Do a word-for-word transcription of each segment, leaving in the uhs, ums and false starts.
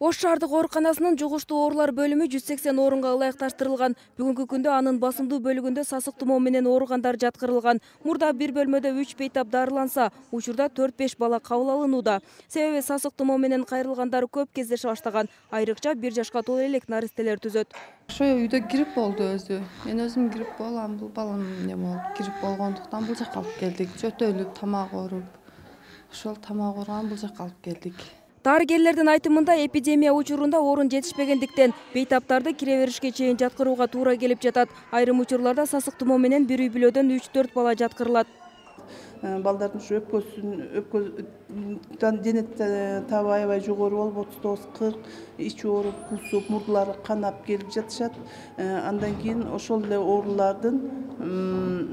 Ош шаардык ооруканасынын жугуштуу оорулар бөлүмү жүз сексен орунга ылайыкташтырылган. Бүгүнкү күндө анын басымдуу бөлүгүндө сасык тумоо менен ооругандар жаткырылган. Мурда бир бөлмөдө үч бейтап дарыланса, учурда төрт беш бала кабыл алынууда. Себеби сасык тумоо менен кайрылгандар көп кездеше баштаган. Айрыкча бир жашка толо элек наристелер түзөт. Ошо үйдө грипп болду өзү. Мен өзүм грипп болгом, бул балам эмне болуп, грипп болгондуктан бул жакка алып келдик. Жөтөлүп, тамак ооруп. Ошол тамак ооруган бул жакка алып келдик. Дарыгерлердин айтымында эпидемия учурунда орун жетишпегендиктен бейтаптарды кире беришке чейин жаткырууга туура келип жатат. Айрым учурларда сасык тумоо менен бир үй бүлөдөн үч төрт бала жаткырылат. Балдардын ушу өпкөсүн өпкө дене табы аябай жогору болуп, отуз тогуз кырк, ичи ооруп, кусуп, мурдулары канап келип жатышат. Андан кийин ошол эле оорулардын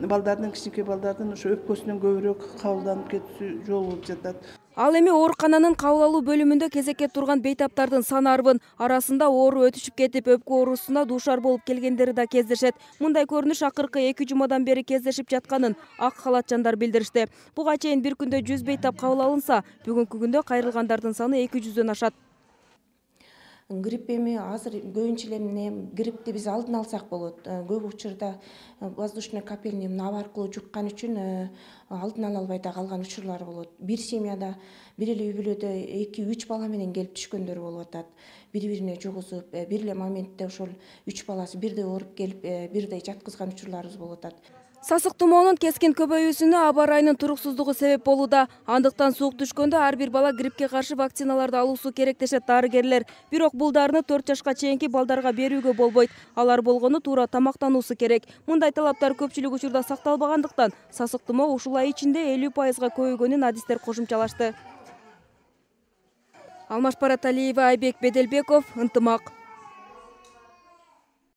балдардын, кичинекей балдардын ошо өпкөсүнөн көбүрөөк кабылданып кетүүсү жолу болуп жатат. Ал эми оорукананын кабыл алуу бөлүмүндө кезекке турган бейтаптардын саны арбын. Арасында оору өтүшүп кетип, өпкө оорусуна дуушар болуп келгендери да кездешет. Мындай көрүнүш акыркы эки жумадан бери кездешип жатканын ак халатчандар билдиришти. Буга чейин бир күндө жүз бейтап кабыл алынса, бүгүнкү күндө кайрылгандардын саны эки жүздөн ашат. Грипп эми азыр көбүнчө эле эмне гриппти биз алдын алсак болот. Көп учурда воздушный капельный нап аркылуу жуккан үчүн алдын ала албай да калган учурлар болот. Бир семьяда, бир эле үй бүлөдө эки үч бала менен келип түшкөндөр болуп атат. Бири-бирине жугузуп, бир эле моментте ошол үч баласы бирдей ооруп келип, бирдей жаткызган учурларыбыз болуп атат. Сасык тумоонун кескин көбөйүүсүнө аба ырайынын туруксуздугу себеп болууда. Андыктан суук түшкөндө ар бир бала гриппке каршы вакциналарды алуусу керек дешет дарыгерлер. Бирок бул дарыны төрт жашка чейинки балдарга берүүгө болбойт. Алар болгону туура тамактануусу керек. Мындай талаптар көпчүлүк учурда сакталбагандыктан сасык тумоо ушул ай ичинде элүү пайызга көбөйгөнүн адистер кошумчалашты. Алмаш Параталиева, Айбек Беделбеков, Ынтымак.